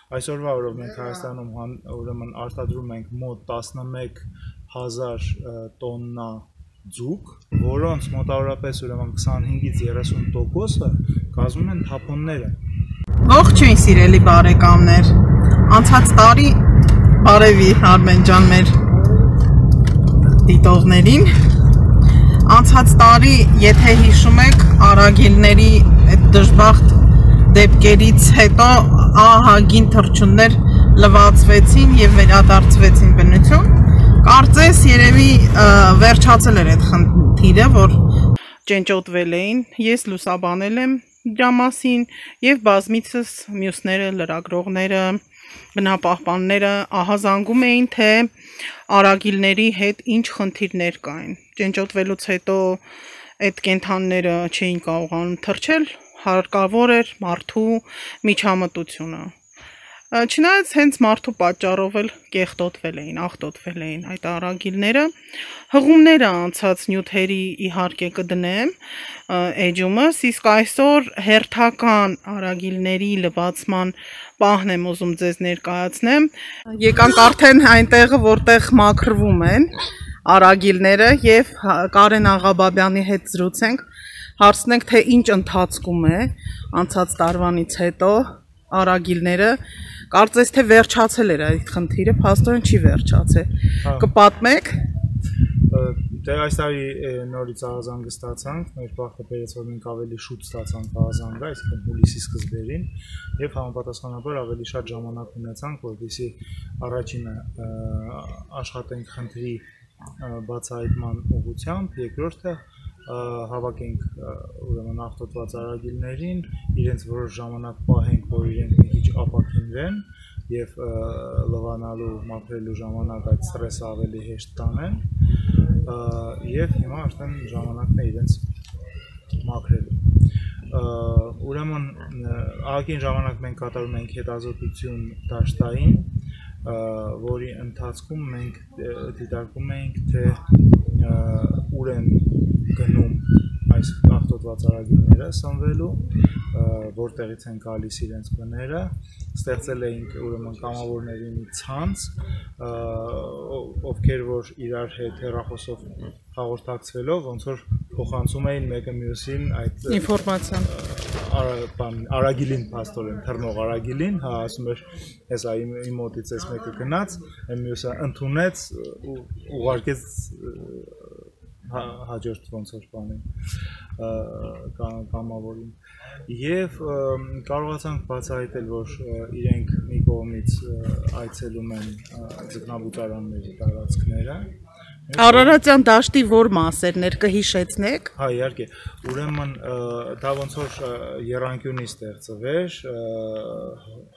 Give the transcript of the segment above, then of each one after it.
Այսօրվա օրով մենք Հայաստանում ուրեմն արտադրում ենք մոտ 11,000 տոննա ձուկ, որոնց մոտավորապես ուրեմն 25-ից 30%-ը կազմում են թափոնները։ Ողջույն սիրելի բարեկամներ, անցած տարի բարևի Արմեն ջան մեր դիտողներին, անցած տարի եթե հիշում եք արագիլների այդ դժբախտ դեպքերից հետո ահագին թռչուններ լվացվեցին եւ վերադարձվեցին բնություն, կարծես երևի վերջացել էր այդ խնդիրը, որ ճենճոտվել էին, ես լուսաբանել եմ դրա մասին եւ բազմիցս մյուսները լրագրողները, բնապահպանները ահազանգում էին, թե արագիլների հետ ինչ խնդիրներ կային։ Ճենճոտվելուց հետո այդ կենդանները չէին կարողանում թռչել, հարկավոր էր մարդու միջամտությունը։ Չնայած հենց մարդու պատճառով էլ կեղտոտվել էին, աղտոտվել էին այդ արագիլները, հղումները անցած նյութերի իհարկե կդնեմ էջումս, իսկ այսօր հերթական արագիլների լվացման պահն եմ ուզում ձեզ ներկայացնեմ։ Եկանք արդեն այնտեղը, որտեղ մաքրվում են արագիլները եւ Կարեն Աղաբաբյանի հետ զրուցենք, հարցնենք, թե ինչ ընթացքում է անցած տարվանից հետո արագիլները, կարծես թե վերջացել էր այդ խնդիրը, փաստորեն չի վերջացել։ Կպատմեք։ Դե այս տարի նորից ահազանգը ստացանք, մեր բախտը բերեց, որ մենք ավելի շուտ ստացանք ահազանգը, այսինքն հուլիսի սկզբերին, եւ համապատասխանաբար ավելի շատ ժամանակ ունեցանք, որպեսզի առաջինը աշխատենք խնդրի բացահայտման ուղղությամբ, երկրորդը հավաքենք ուրեմն աղտոտված արագիլներին, իրենց որոշ ժամանակ պահենք, որ իրենք մի քիչ ապաքինվեն եւ լվանալու, մաքրելու ժամանակ այդ ստրեսը ավելի հեշտ տանեն եւ հիմա արդեն ժամանակն է իրենց մաքրելու։ Ուրեմն ահագին ժամանակ մենք կատարում ենք հետազոտություն դաշտային, որի ընթացքում մենք դիտարկում ենք, թե ուր են գնում այս աղտոտված արագիլները սնվելու, որտեղից են գալիս իրենց բները, ստեղծել էինք ուրեմն կամավորների մի ցանց, ովքեր որ իրար հետ հեռախոսով հաղորդակցվելով, ոնց որ փոխանցում էին մեկը մյուսին այդ ինֆորմացիան արագիլին, փաստորեն թռնող արագիլին, հա, ասում էր, հեսա իմ մոտից էս մեկը գնաց, այն մյուսը ընդունեց ու ուղարկեց հաջորդ ոնց որ բանին կամավորին եւ կարողացանք բացահայտել, որ իրենք մի կողմից այցելում են ձկնաբուծարանների տարածքները։ Արարատյան դաշտի որ մասերներ կհիշեցնեք։ Հա, իհարկե, ուրեմն դա ոնց որ եռանկյունի ստեղծվեր,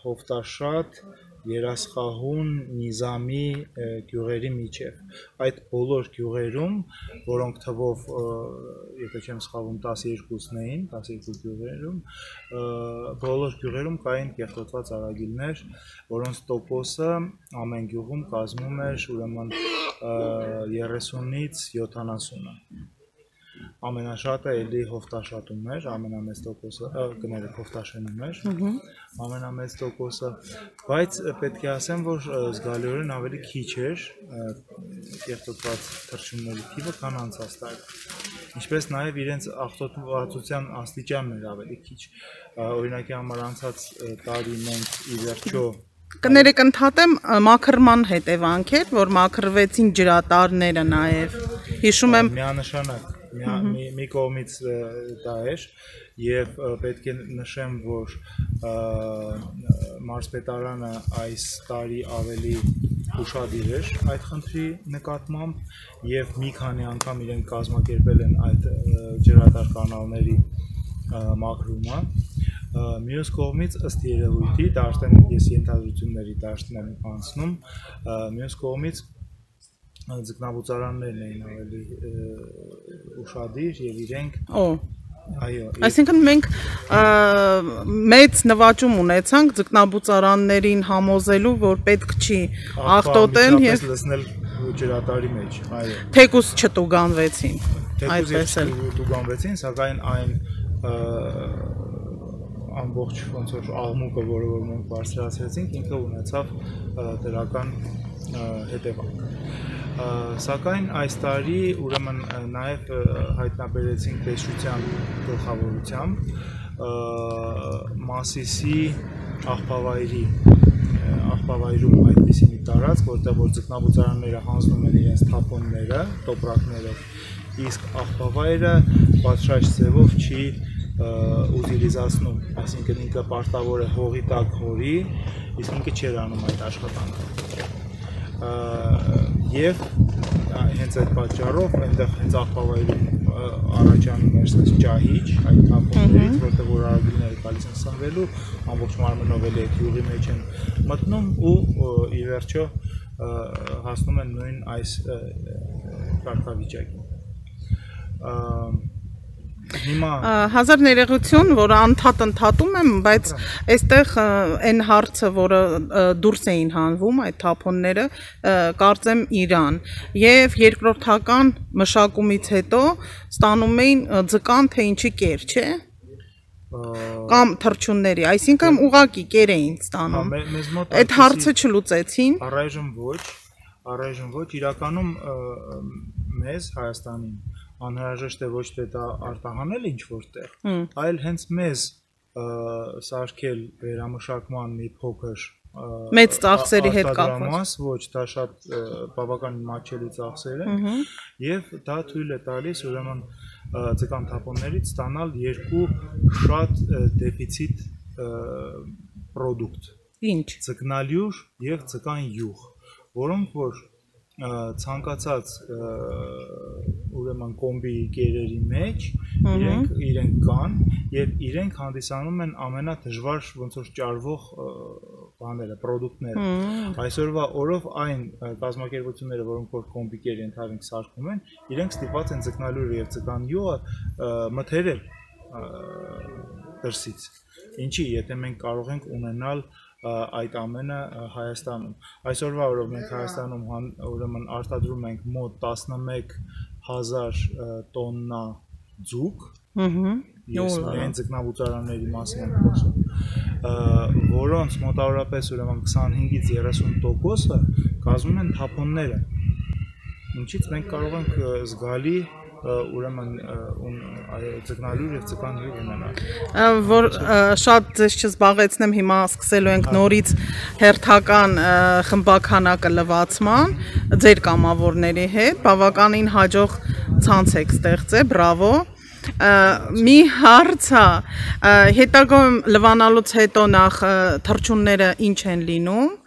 Հովտաշատ, Երասխահուն, Նիզամի գյուղերի միջև։ Այդ բոլոր գյուղերում, որոնք թվով, եթե չեմ սխալվում, 12-ն էին, 12 գյուղերում, բոլոր գյուղերում կային կեղտոտված արագիլներ, որոնց տոկոսը ամեն գյուղում կազմում էր ուրեմն 30-ից 70-ը։ Ամենաշատը էլի Հովտաշատում էր, ամենամեծ տոկոսը, կներեք Հովտաշենում էր, ամենամեծ տոկոսը, բայց պետք է ասեմ, որ զգալիորեն ավելի քիչ էր կեղտոտված թռչունների թիվը, քան անցած տարի։ Ինչպես նաև իրենց աղտոտվածության աստիճանն էր ավելի քիչ։ Օրինակի համար անցած տարի մենք ի վերջո կներեք ընդհատեմ մաքրման հետևանք էր, որ մաքրվեցին ջրատարները նաև։ Հիշում եմ միանշանակ մի կողմից դա էր եւ պետք է նշեմ, որ մարզպետարանը այս տարի ավելի ուշադիր էր այդ խնդրի նկատմամբ եւ մի քանի անգամ իրենք կազմակերպել են այդ ջրատար կանալների մաքրումը։ Մյուս կողմից ըստ երևույթի, դա արդեն ես ենթադրությունների դաշտն եմ անցնում, մյուս կողմից ձկնաբուծարաններն էին ավելի ուշադիր եւ իրենք Այսինքն մենք մեծ նվաճում ունեցանք ձկնաբուծարաններին համոզելու, որ պետք չի աղտոտել եւ լցնել ջրատարի մեջ, այո։ Թեկուզ չտուգանվեցին, այդպես էլ տուգանվեցին, սակայն այն ամբողջ ոնց որ աղմուկը, որը որ մենք բարձրացրեցինք, ինքը ունեցավ դրական հետևանք։ Սակայն այս տարի ուրեմն նաև հայտնաբերեցինք տեսչության գլխավորությամբ Մասիսի աղբավայրում այդպիսի մի տարածք, որտեղ որ ձկնաբուծարանները հանձնում են իրենց թափոնները, տոպրակներով, իսկ աղբավայրը պատշաճ ձևով չի ուտիլիզացնում, այսինքն ինքը պարտավոր է հողի տակ հորի, իսկ ինքը չէր անում այդ աշխատանքը։ Եվ հենց այդ պատճառով այնտեղ հենց աղբավայրում առաջանում էր ասես ջահիճ այդ թափոններից, որտեղ որ արագիլները գալիս են սնվելու, ամբողջ մարմնով էլ այդ յուղի մեջ են մտնում ու ի վերջո հասնում են նույն այս կարգավիճակին։ Հազար ներողություն, որ ընդհատում եմ, բայց այստեղ այն հարցը, որը դուրս էին հանվում այդ թափոնները, կարծեմ Իրան, եւ երկրորդական մշակումից հետո ստանում էին ձկան թե ինչի կեր, չէ՞։ Կամ թռչունների, այսինքն ուղակի կեր էին ստանում։ Այդ հարցը չլուծեցին։ Առայժմ ոչ, իրականում մեզ Հայաստանին անհրաժեշտ է ոչ թե դա արտահանել ինչ-որտեղ, այլ հենց մեզ սարքել վերամշակման մի փոքր մեծ ծախսերի հետ կապված, ոչ, դա շատ բավականին մատչելի ծախսեր են, եւ դա թույլ է տալիս ուրեմն ձկան թափոններից ստանալ երկու շատ դեֆիցիտ պրոդուկտ։ Ինչ։ Ձկնալյուր եւ ձկան յուղ, որոնք որ ցանկացած ուրեմն կոմբի կերերի մեջ իրենք կան եւ իրենք հանդիսանում են ամենադժվար ոնց որ ճարվող բաները, պրոդուկտները։ Այսօրվա օրով այն կազմակերպությունները, որոնք որ կոմբի կեր ընդհանրենք սարքում են, իրենք ստիպված են ձկնալյուրը եւ ձկան յուղը մթերել դրսից։ Ինչի, եթե մենք կարող ենք ունենալ այդ ամենը Հայաստանում։ Այսօրվա օրով մենք Հայաստանում ուրեմն արտադրում ենք մոտ 11,000 տոննա ձուկ, ես միայն ձկնաբուծարանների մասին եմ խոսում, որոնց մոտավորապես ուրեմն 25-ից 30%-ը կազմում են թափոնները, ինչից մենք կարող ենք զգալի ուրեմն ձկնալյուր եւ ձկան յուղ ունենալ։ Որ շատ ձեզ չզբաղեցնեմ, հիմա սկսելու ենք նորից հերթական խմբականակը լվացման ձեր կամավորների հետ, բավականին հաջող ցանց եք ստեղծել, բրավո։ Մի հարց է, հետագայում լվանալուց հետո նախ թռչունները ինչ են լինում,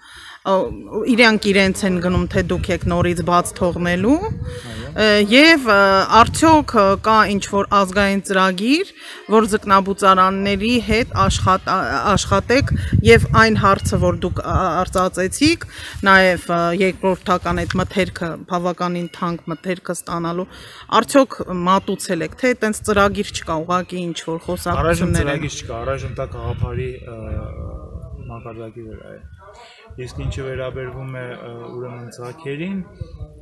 իրանք իրենց են գնում, թե դուք եք նորից բաց թողնելու, եւ արդյոք կա ինչ-որ ազգային ծրագիր, որ ձկնաբուծարանների հետ աշխատեք եւ այն հարցը, որ դուք արծացեցիք, նաեւ երկրորդական այդ մթերքը, բավականին թանկ մթերքը ստանալու, արդյոք մատուցել եք, թե այտենց ծրագիր չկա, ուղղակի ինչ-որ խոսակցություններ են։ Առայժմ ծրագիր չկա, առայժմ դա գաղափարի մակարդակի վրա է։ Իսկ ինչը վերաբերվում է ուրեմն ձագերին,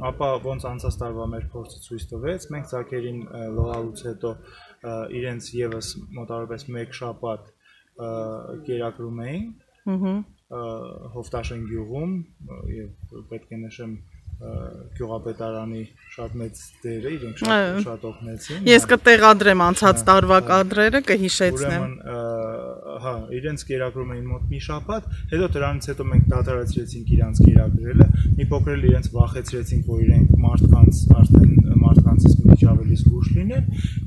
ապա ոնց անցած տարվա մեր փորձը ցույց տվեց, մենք ձագերին լողալուց հետո իրենց եւս մոտավորապես 1 շաբաթ կերակրում էինք Հովտաշեն գյուղում եւ պետք է նշեմ գյուղապետարանի շատ մեծ դերը, իրենք շատ օգնեցին։ Ես կտեղադրեմ անցած տարվա կադրերը, կհիշեցնեմ։ Ուրեմն, հա, իրենց կերակրում էին մոտ մի շաբաթ, հետո դրանից հետո մենք դադարեցրեցինք իրանց կերակրելը, մի փոքր էլ իրենց վախեցրեցինք, որ իրենք մարդկանց արդեն մարդկանցից մի ավելի զգուշ լինեն,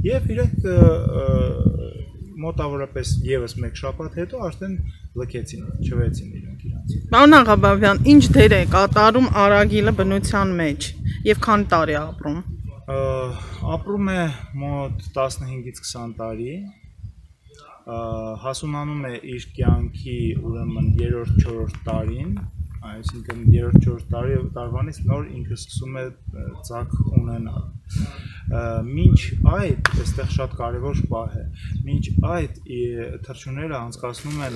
եւ իրենք մոտավորապես եւս 1 շաբաթ հետո արդեն լքեցին, չվեցին իրենք իրանց։ Պարոն Աղաբաբյան, ինչ դեր է կատարում արագիլը բնության մեջ եւ քանի տարի ապրում։ Ապրում է մոտ 15-ից 20 տարի, հասունանում է իր կյանքի ուրեմն 3-4 տարին, այսինքն 3-4 տարվանից նոր ինքը սկսում է ձակ ունենալ։ Մինչ այդ, այստեղ շատ կարևոր պահ է, մինչ այդ թռչունները անցկացնում են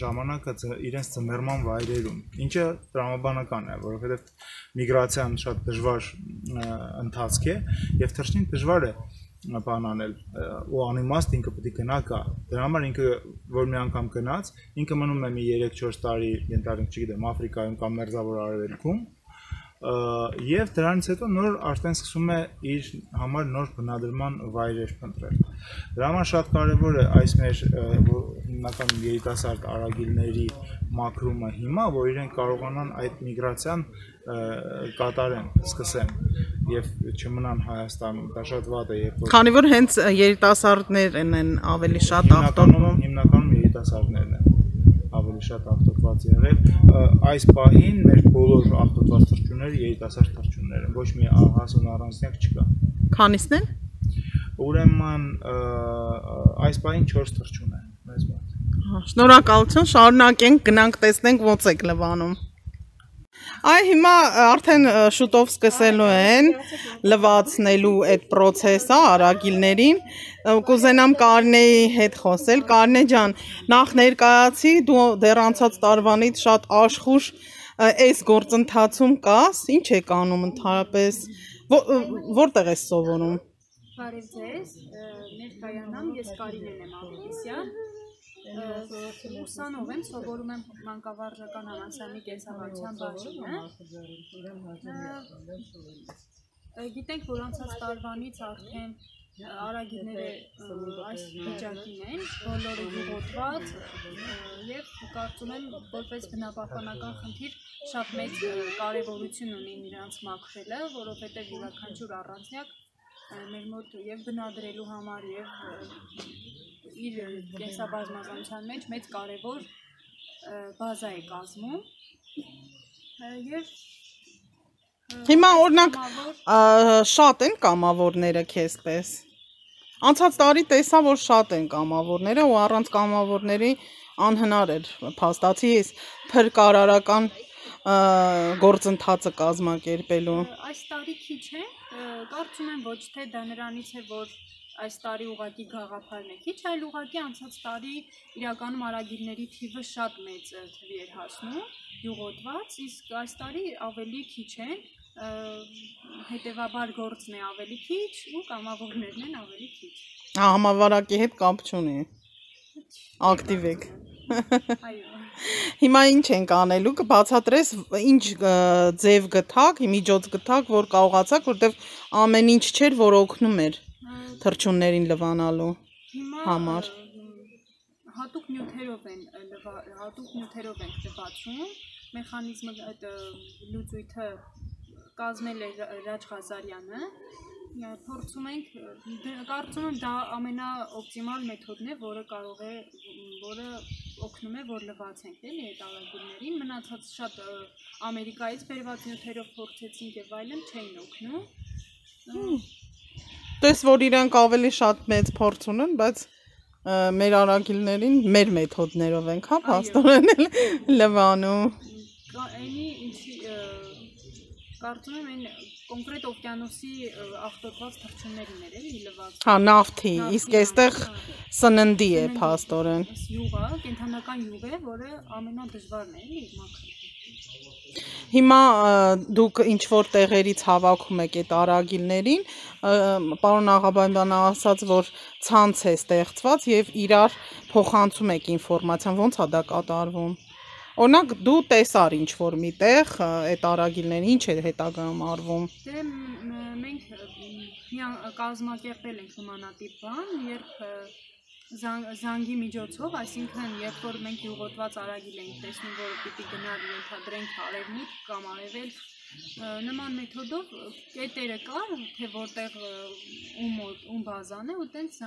ժամանակը իրենց ծնվերման վայրերում, ինչը տրամաբանական է, որովհետև միգրացիան շատ դժվար ընթացք է եւ թռչնին դժվար է բան անել ու անիմաստ ինքը պետք է գնա գա։ Դրա համար ինքը որ մի անգամ գնաց, ինքը մնում է մի 3-4 տարի, ենթադրենք, չգիտեմ, Աֆրիկայում կամ Մերձավոր Արևելքում, եւ դրանից հետո նոր արդեն սկսում է իր համար նոր բնադրման վայրեր փնտրել։ Դրա համար շատ կարեւոր է այս մեր հիմնական երիտասարդ արագիլների մաքրումը հիմա, որ իրենք կարողանան այդ միգրացիան կատարեն, սկսեն եւ չմնան Հայաստանում, դա շատ վատ է, երբ որ Քանի որ հենց երիտասարդներն են ավելի շատ ախտորվում, հիմնականում երիտասարդներն են ավելի շատ ախտոտված եղել, այս պահին մեր բոլոր ախտոտված թռչունները երիտասարդ թռչուններ են, ոչ մի հասուն առանձնյակ չկա։ Քանիսն են։ Ուրեմն այս պահին 4 թռչուն է մեզ մոտ։ Շնորհակալություն, շարունակենք, գնանք տեսնենք ոնց եք Լվանում։ Այ հիմա արդեն շուտով սկսելու են լվացնելու այդ process-ը արագիլներին։ Կուզենամ Կարինեի հետ խոսել։ Կարինե ջան, նախ ներկայացի, դու դեռ անցած տարվանից շատ աշխուժ այս գործընթացում կաս, ինչ եք անում ընդհանրապես, որտեղ ես սովորում։ Բարև ձեզ, ներկայանամ, ես Կարինեն եմ Ավետիսյան, ուսանող եմ, սովորում եմ մանկավարժական համալսարանի կենսաբանության բաժինը։ Գիտենք, որ անցած տարվանից արդեն արագիլները այս վիճակին են, բոլորը յուղոտված եւ կարծում եմ, որպես բնապահպանական խնդիր շատ մեծ կարեւորություն ունի նրանց մաքրելը, որովհետեւ յուրաքանչյուր առանձնյակ մեր մոտ եւ բնադրելու համար եւ իր կենսաբազմազանության մեջ մեծ կարևոր բազա է կազմում եւ հիմա օրինակ շատ են կամավորները քեզպես։ Անցած տարի տեսա, որ շատ են կամավորները ու առանց կամավորների անհնար էր փաստացի ես փրկարարական գործընթացը կազմակերպելու։ Այս տարի քիչ է, կարծում եմ ոչ թե դա նրանից է, որ այս տարի ուղղակի գաղափարն է քիչ, այլ ուղղակի անցած տարի իրականում արագիլների թիվը շատ մեծ թվի էր հասնում, յուղոտված, իսկ այս տարի ավելի քիչ են, հետևաբար գործն է ավելի քիչ ու կամավորներն են ավելի քիչ։ Համավարակի հետ կապ չունի։ Ակտիվ եք։ Այո։ Հիմա ինչ ենք անելու, կբացատրես ինչ ձև գտակ, միջոց գտակ, որ կարողացաք, որտեվ ամեն ինչ չէր, որ օգնում էր թռչուններին լվանալու համար։ Հատուկ նյութերով ենք լվացում, մեխանիզմը այդ լուծույթը կազմել է Ռաջ Ղազարյանը, փորձում ենք, կարծում եմ դա ամենաօպտիմալ մեթոդն է, որը օգնում է, որ լվացենք էլի այդ արագիլներին, մնացած շատ Ամերիկայից բերված նյութերով փորձեցինք եւ այլն չէին օգնում։ Տես որ իրանք ավելի շատ մեծ փորձ ունեն, բայց մեր արագիլներին մեր մեթոդներով ենք, հա, փաստորեն լվանում։ Այնի ինչի կարծում եմ այն կոնկրետ օվկիանոսի ախտոտված թռչուններին էր էլի լվացում։ Հա, նավթի, իսկ այստեղ սննդի է փաստորեն։ Յուղը, կենթանական յուղ է, որը ամենադժվարն է էլի մաքրել։ Հիմա դուք ինչ որ տեղերից հավաքում եք այդ արագիլներին, պարոն Աղաբանյանը ասաց, որ ցանց է ստեղծված եւ իրար փոխանցում եք ինֆորմացիան, ո՞նց է դա կատարվում։ Օրինակ դու տեսար ինչ որ միտեղ այդ արագիլներին ինչ է հետագայում արվում։ Դե մենք կազմակերպել ենք նմանատիպ բան, երբ զանգի միջոցով, այսինքն երբ որ մենք յուղոտված արագիլ ենք տեսնում, որ պիտի գնալ ենթադրենք արևմուտք կամ արևելք, նման մեթոդով կետերը կար, թե որտեղ ում բազան է, ու տենց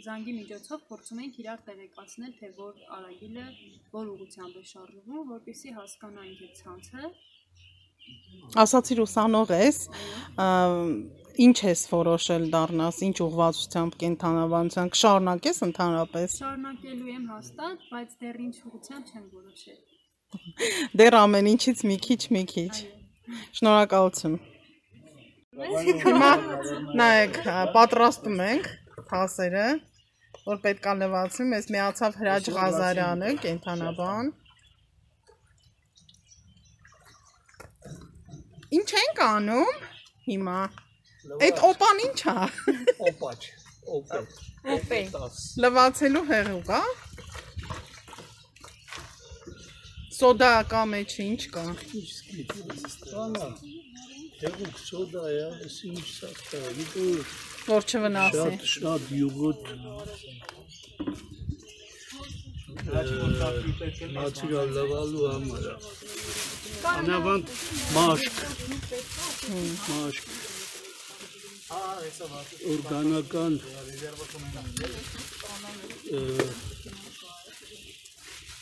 զանգի միջոցով փորձում ենք իրար տեղեկացնել, թե որ արագիլը որ ուղղությամբ է շարժվում, որպեսզի հասկանանք այդ ցանցը։ Ասացիր ուսանող ես, ինչ ես որոշել դառնաս, ինչ ուղղվածությամբ կենթանաբանության կշարունակես ընդհանրապես։ Շարունակելու եմ հաստատ, բայց դեռ ինչ ուղղությամբ չեմ որոշել։ Դեռ ամեն ինչից մի քիչ։ Շնորհակալություն։ Հիմա նայեք, պատրաստում ենք թասերը, որ պետք է լվացվի, մեզ միացավ Հրաչ Ղազարյանը, կենթանաբան։ Ինչ ենք անում հիմա։ Այդ օպան ի՞նչ է։ Օպաչ։ Օպետ։ Լվացելու հեղուկ, հա։ Սոդա կա մեջը, ինչ կա։ Հեղուկ սոդա է, այս ինչ սախտա, Որ չվնասի։ շատ յուղոտ Նացիրալ լվալու համար է։ Անավանդ մաշկ, օրգանական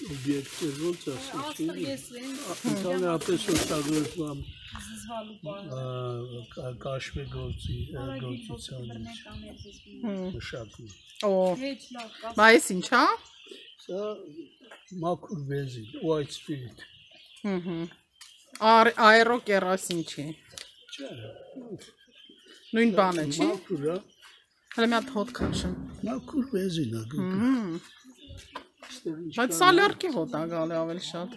օբյեկտներ ոնց ասեցի, ընդհանրապես օգտագործվում կաշվե գործիցանից մշակում։ Բայց ինչ, հա։ Սա մաքուր բենզին, white spirit։ Այրո կերասին չի։ Չէ։ Նույն բանը չի։ Մաքուր է։ Հələ մի հատ հոտ քաշեմ։ Մաքուր բենզին է գնում։ Բայց սալյարկի հոտ է գալի ավելի շատ։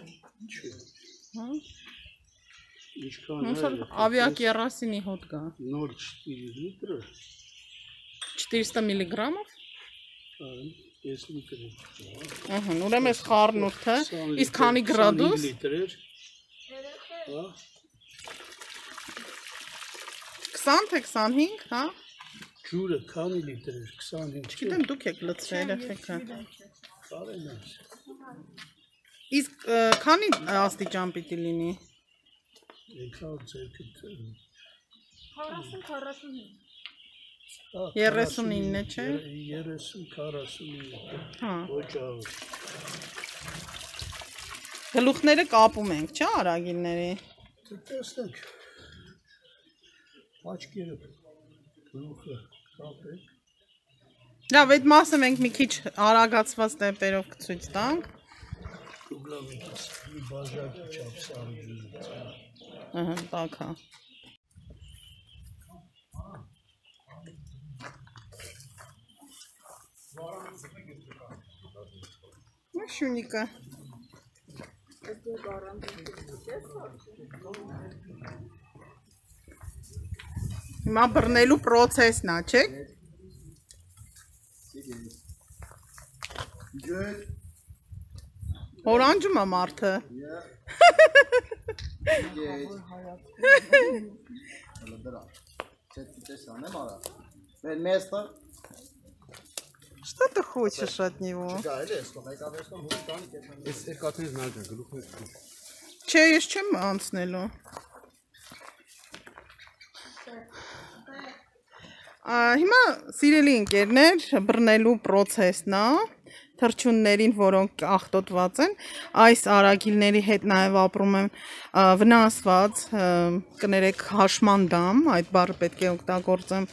Ինչքան Ոնց որ ավիա կերասինի հոտ գա։ նոր 4 լիտր։ 400 միլիգրամով։ 5 լիտր։ Ահա, ուրեմն էս խառնուրդը, իսկ քանի գրադուս։ 25 լիտր էր։ Հա։ 20 թե 25, հա։ Ջուրը քանի լիտր էր, 25։ Չգիտեմ դուք եք լցրել երեխեքը։ Կարեն է։ Իսկ քանի աստիճան պիտի լինի։ Եկավ ձերքդ 39 է, չէ։ 30-49։ Հա։ Ոչ աղ։ Գլուխները կապում ենք, չէ՞ արագիլների։ Տեսնենք։ Աչքերը գլուխը կապենք։ Լավ, այդ մասը մենք մի քիչ արագացված տեմպերով կցույց տանք։ Ուգլավիկից մի բաժակի չափ սարի։ Ահա, տակ հա։ Շունիկը։ Հիմա բռնելու պրոցեսն է, չէ՞։ Օրանջում է մարդը։ Что ты хочешь от него? Չէ, ես չեմ անցնելու։ Հիմա սիրելի ընկերներ, բռնելու պրոցեսն է, թռչուններին, որոնք աղտոտված են, այս արագիլների հետ նաև ապրում են վնասված, կներեք հաշմանդամ, այդ բառը պետք է օգտագործեմ,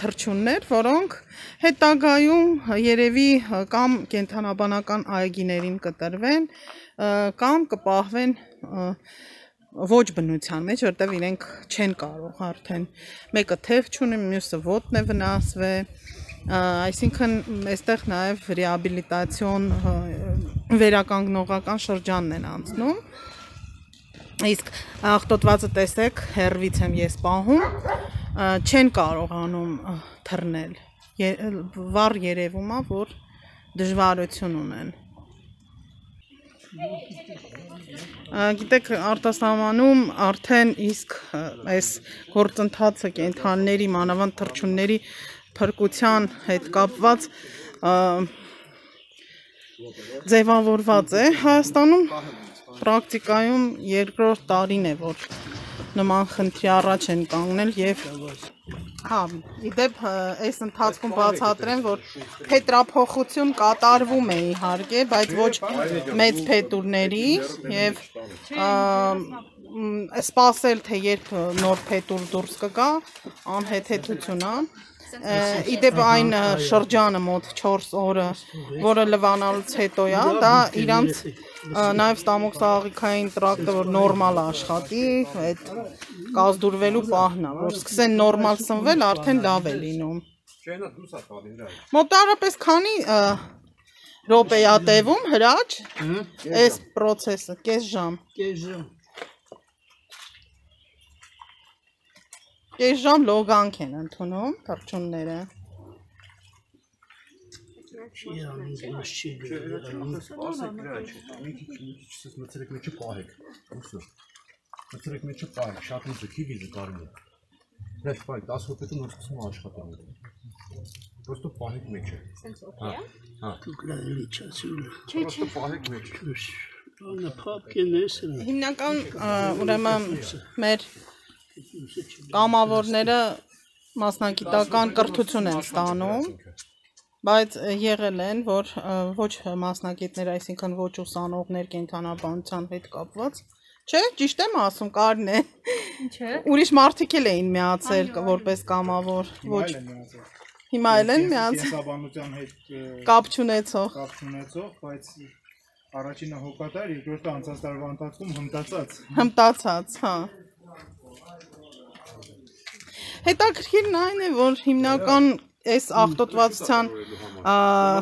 թռչուններ, որոնք հետագայում երևի կամ կենդանաբանական այգիներին կտրվեն, կամ կպահվեն ոչ բնության մեջ, որտեղ իրենք չեն կարող արդեն մեկը թև չունի, մյուսը ոտն է վնասվել, այսինքն այստեղ նաև ռեաբիլիտացիոն վերականգնողական շրջանն են անցնում, իսկ աղտոտվածը տեսեք, հեռվից եմ ես պահում, չեն կարողանում թռնել, վառ երևում է, որ դժվարություն ունեն։ Գիտեք, արտասահմանում արդեն իսկ այս գործընթացը կենդանիների, մանավանդ թռչունների փրկության հետ կապված ձևավորված է Հայաստանում, պրակտիկայում երկրորդ տարին է, որ նման խնդրի առաջ են կանգնել եւ հա, իդեպ այս ընթացքում բացատրեմ, որ փետրափոխություն կատարվում է իհարկե, բայց ոչ մեծ փետուրների եւ սպասել թե երբ նոր փետուր դուրս կգա, անհեթեթություն է։ Իդեպ այն շրջանը մոտ 4 օրը, որը լվանալուց հետո է, դա իրանց նաև ստամոքսաղիքային տրակտը, որ նորմալ աշխատի, այդ կազդուրվելու պահն է, որ սկսեն նորմալ սնվել, արդեն լավ է լինում։ Մոտարապես քանի րոպե է տևում հրաչ, այս պրոցեսը, կես ժամ։ Կես ժամ լոգանք են ընդունում թռչունները։ Չի անում ոչ չի Ասեք դրա չէ։ Մի քիչ մտցրեք մեջը պահեք։ Ուսո։ Մտցրեք մեջը պահեք, շատ ու ձգի վիզը կարելի է։ Դες պահեք 10 րոպեում նոր սկսում աշխատանքը։ Պրոստո պահեք մեջը։ Սենց օքեյ է։ Հա։ դուք լալի չասին։ Պրոստո պահեք մեջը։ Անա փապկենես։ Հիմնական ուրեմն մեր կամավորները մասնագիտական կրթություն են ստանում, բայց եղել են, որ ոչ մասնագետներ, այսինքն ոչ ուսանողներ կենդանաբանության հետ կապված, չէ, ճիշտ եմ ասում, Կարն է։ Չէ։ Ուրիշ մարդիկ էլ էին միացել որպես կամավոր, ոչ հիմա էլ են միացել կենսաբանության հետ կապ չունեցող։ բայց առաջինը հոգատար, երկրորդը անցած տարվա ընթացքում Հմտացած, հա։ Հետաքրքիրն այն է, որ հիմնական այս աղտոտվածության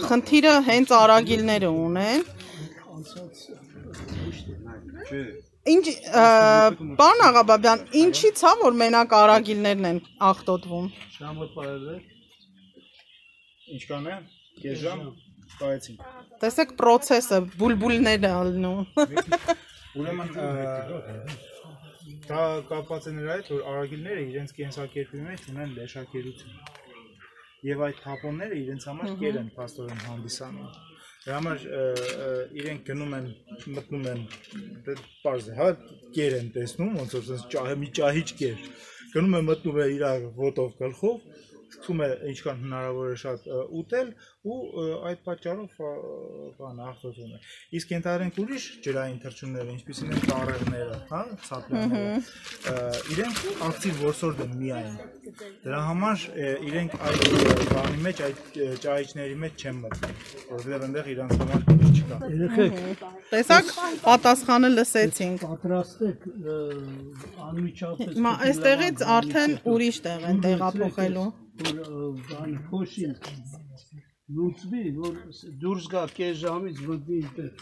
խնդիրը հենց արագիլները ունեն։ Ինչ պարոն Աղաբաբյան, ինչի՞ց է, որ մենակ արագիլներն են աղտոտվում։ Ժամը պարել է։ Ինչքան է, կես ժամ պայեցինք։ Տեսեք պրոցեսը, բուլբուլներ է ալնում։ Ուրեմն դա կապված է նրա հետ, որ արագիլները իրենց կենսակերպի մեջ ունեն լեշակերություն։ Եվ այդ թափոնները իրենց համար կեր են փաստորեն հանդիսանում։ Դրա համար իրենք գնում են, մտնում են, պարզ է, հա, կեր են տեսնում, ոնց որ մի ճահիճ կեր։ Գնում է մտնում է իր ոտով գլխով, սկսում է ինչքան հնարավոր է շատ ուտել ու այդ պատճառով աղտոտում է։ Իսկ ենթադրենք ուրիշ ջրային թռչունները, ինչպիսին են տառեղները, հա, ցապլյանները, իրենք ակտիվ որսորդ են միայն։ Դրա համար իրենք այդ բանի մեջ, այդ ճահիճների մեջ չեն մտնում, որովհետև այնտեղ իրանց համար քիչ չկա։ Երեխեք, Տեսակ, պատասխանը լսեցինք։ պատրաստեք անմիջապես։ Հիմա այստեղից արդեն ուրիշ տեղ են տեղափոխելու։ Բան փոշին լուծվի, որ դուրս գա կես ժամից մտնի այդտեղ։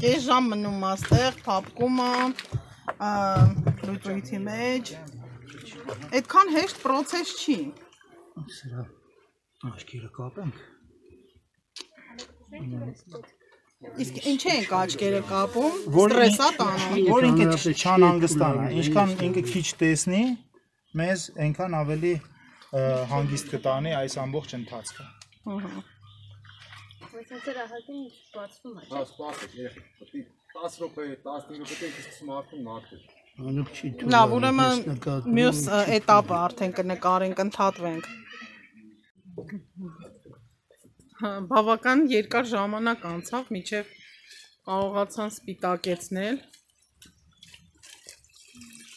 Կես ժամ մնում աստեղ, փափկում է, լուծույթի մեջ։ Այդքան հեշտ պրոցես չի։ Սրա աչքերը կապենք։ Իսկ ինչ ենք աչքերը կապում, ստրեսա տանում։ Որ ինքը չանհանգստանա, ինչքան ինքը քիչ տեսնի, մեզ այնքան ավելի հանգիստ կտանի այս ամբողջ ընթացքը։ Բայց դրա հատին բացվում է։ Հա, սպասեք, երբ 10 րոպե, 15 րոպե սկսում արդեն մաքրել։ Անուք չի թույլ։ Լավ, ուրեմն մյուս էտապը արդեն կնկարենք, ընդհատվենք։ Բավական երկար ժամանակ անցավ, մինչև կարողացան սպիտակեցնել։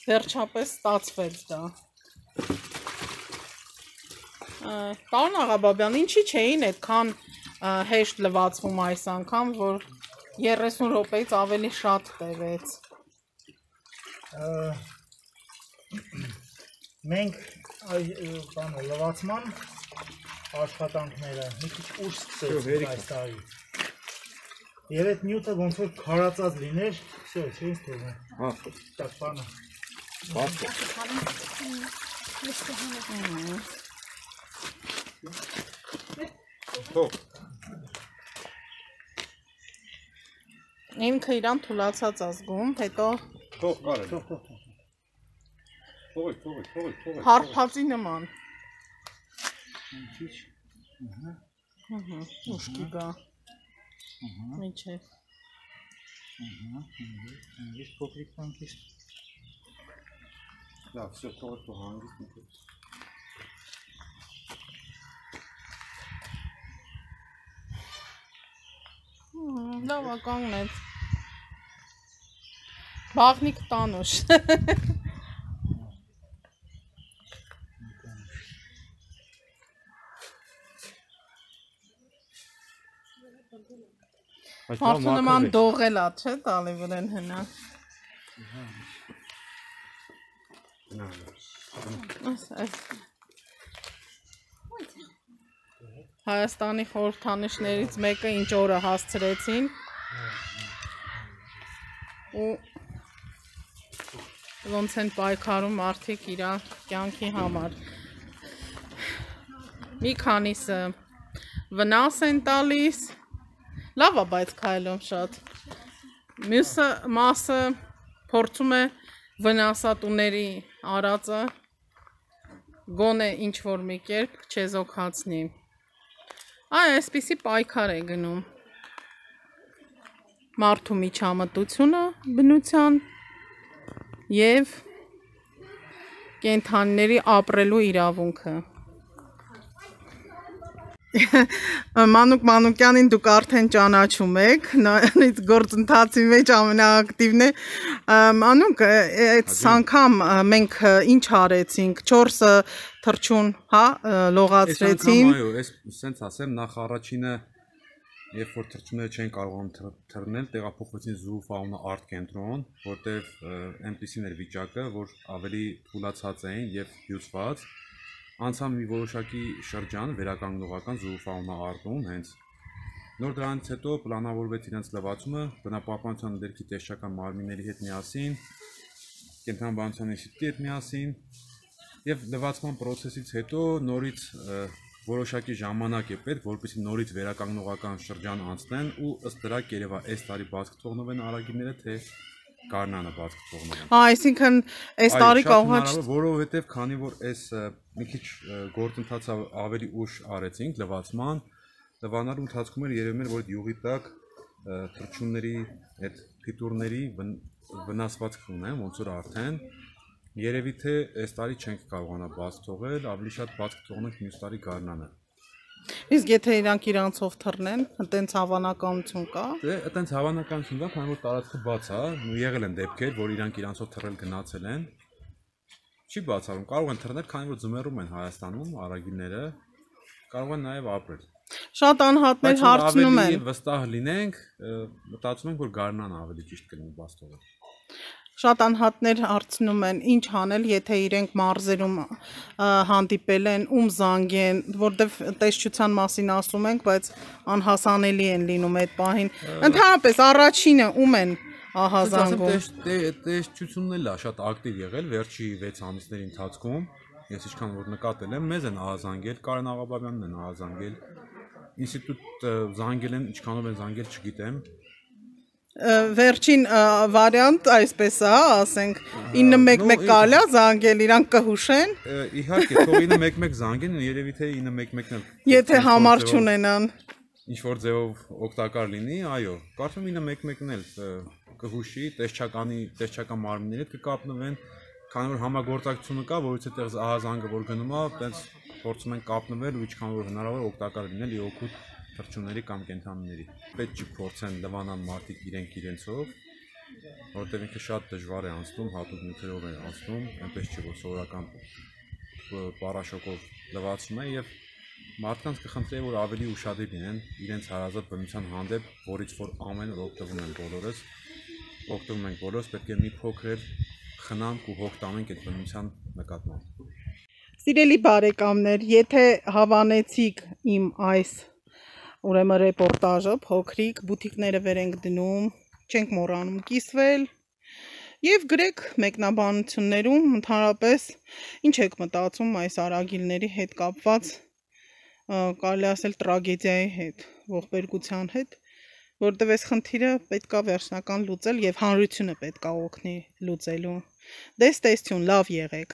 Վերջապես ստացվեց դա։ Պարոն Աղաբաբյան, ինչի չէին այդքան հեշտ լվացվում այս անգամ, որ 30 րոպեից ավելի շատ տևեց։ Մենք լվացման աշխատանքները մի քիչ ուշ սկսեցինք այս տարի։ Եվ այդ նյութը ոնց որ քարացած լիներ, չէ, չէ՞ս թողնում։ Հա, Տակ բանը։ բացը։ Թող։ Ինքը իրան թուլացած ազգում, հետո Թող կարել։ Թողեք։ հարփածի նման։ Ուշքի գա։ Միջև։ Ես փոքրիկ բանկից։ Լավ, всё, թողեք հանգիստ մտած։ Լավ կանգնեց։ Բաղնիկ տանուշ։ Մարդու նման դողել է, չէ՞ տալի վրեն հնա։ Հայաստանի խորհրդանիշներից մեկը ինչ օրը հասցրեցին ու ոնց են պայքարում մարդիկ իրանք կյանքի համար։ Մի քանիսը վնաս են տալիս։ Լավ է, բայց քայլում շատ։ Մյուսը մասը փորձում է վնասատուների արածը գոնե ինչ-որ մի կերպ չեզոքացնի։ Այսպիսի պայքար է գնում մարդու միջամտությունը բնության և կենդանիների ապրելու իրավունքը։ Մանուկ Մանուկյանին դուք արդեն ճանաչում եք, նույնիսկ գործընթացի մեջ ամենաակտիվն է։ Մանուկ, այդ անգամ մենք ինչ արեցինք, 4 թռչուն, հա, լողացրեցին։ Այո, այս սենց ասեմ, նախ առաջինը, երբ որ թռչունները չեն կարողանում թռնել, տեղափոխվեցին Zoo Fauna Art կենտրոն, որտեղ այնպիսին էր վիճակը, որ ավելի թուլացած էին եւ հյուծված։ Անցան մի որոշակի շրջան վերականգնողական Zoo Fauna Art-ում հենց։ Նոր դրանից հետո պլանավորվեց իրենց լվացումը բնապահպանության ներքի տեսչական մարմինների հետ միասին, կենդանաբանության ինստիտուտի հետ միասին եւ լվացման process-ից հետո նորից որոշակի ժամանակ է պետք, որպեսզի նորից վերականգնողական շրջան անցնեն ու ըստ դրա երևա այս տարի բաց կթողնով են արագիները, թե Գարնանը բաց կթողնով են։ Այսինքն այս տարի կարող է, որովհետեւ քանի որ այս մի քիչ գործընթացը ավելի ուշ արեցինք լվացման, լվանալու ընթացքում էր երևում էր, որ յուղի տակ թռչունների այդ փիտուրների վնասվածք ունեն, ոնց որ արդեն երևի թե այս տարի չենք կարողանա բաց թողել, ավելի շատ բաց կթողնենք մյուս տարի Գարնանը։ Իսկ եթե իրանք իրանցով թռնեն, այտենց հավանականություն կա։ Դե այտենց հավանականություն կա, քանի որ տարածքը բաց է, եղել են դեպքեր, որ իրանք իրանցով թռել գնացել են։ Չի բացառում, կարող են թռնել, քանի որ ձմեռում են Հայաստանում արագիլները, կարող են նաև ապրել։ Շատ անհատներ հարցնում են։ Ավելի վստահ լինենք, մտածում ենք, որ Գարնան ավելի ճիշտ կլինի բաց թողել։ Շատ անհատներ հարցնում են, ինչ անել, եթե իրենք մարզերում հանդիպել են, ում զանգեն, որտեվ տեսչության մասին ասում ենք, բայց անհասանելի են լինում այդ պահին։ Ընդհանրապես առաջինը ում են ահազանգում։ Տեսչությունն էլ է շատ ակտիվ եղել վերջի 6 ամիսների ընթացքում։ Ես ինչքան որ նկատել եմ, մեզ են ահազանգել, Կարեն Աղաբաբյանն են ահազանգել։ Ինստիտուտ զանգել են, ինչքանով են զանգել, չգիտեմ։ Վերջին վարիանտ այսպես է, ասենք 911 կարելի է զանգել, իրանք կհուշեն։ Իհարկե, թող 911 զանգեն, երևի թե 911-ն էլ։ Եթե համար չունենան։ Ինչ որ ձևով օգտակար լինի, այո, կարծում եմ 911-ն էլ կհուշի, տեսչական մարմինների հետ կկապնվեն, քանի որ համագործակցությունը կա, որից այդտեղ ահազանգը որ գնում է, այդպես փորձում են կապնվել ու ինչքան որ հնարավոր օգտակար լինել օգուտ թռչունների կամ կենդանիների։ Պետք չի փորձեն լվանան մարդիկ իրենցով, որովհետև ինքը շատ դժվար է անցնում, հատուկ նյութերով է անցնում, այնպես չի որ սովորական պարաշոկով լվացում է եւ մարդկանց կխնդրեի որ ավելի ուշադիր լինեն իրենց հարազատ բնության հանդեպ, որից որ ամեն օր օգտվում ենք բոլորս, պետք է մի փոքր խնամք ու հոգ տանենք այդ բնության նկատմամբ։ Սիրելի բարեկամներ, եթե հավանեցիք իմ այս ուրեմն ռեպորտաժը, փոքրիկ բուտիկները վեր ենք դնում, չենք մոռանում կիսվել եւ գրեք մեկնաբանություններում ընդհանրապես ինչ եք մտածում այս արագիլների հետ կապված, կարելի ասել տրագեդիայի հետ, ողբերգության հետ, որտեղ այս խնդիրը պետք է վերջնական լուծել եւ հանրությունը պետք է օգնի լուծելու։ Դե ստեսություն, լավ եղեք։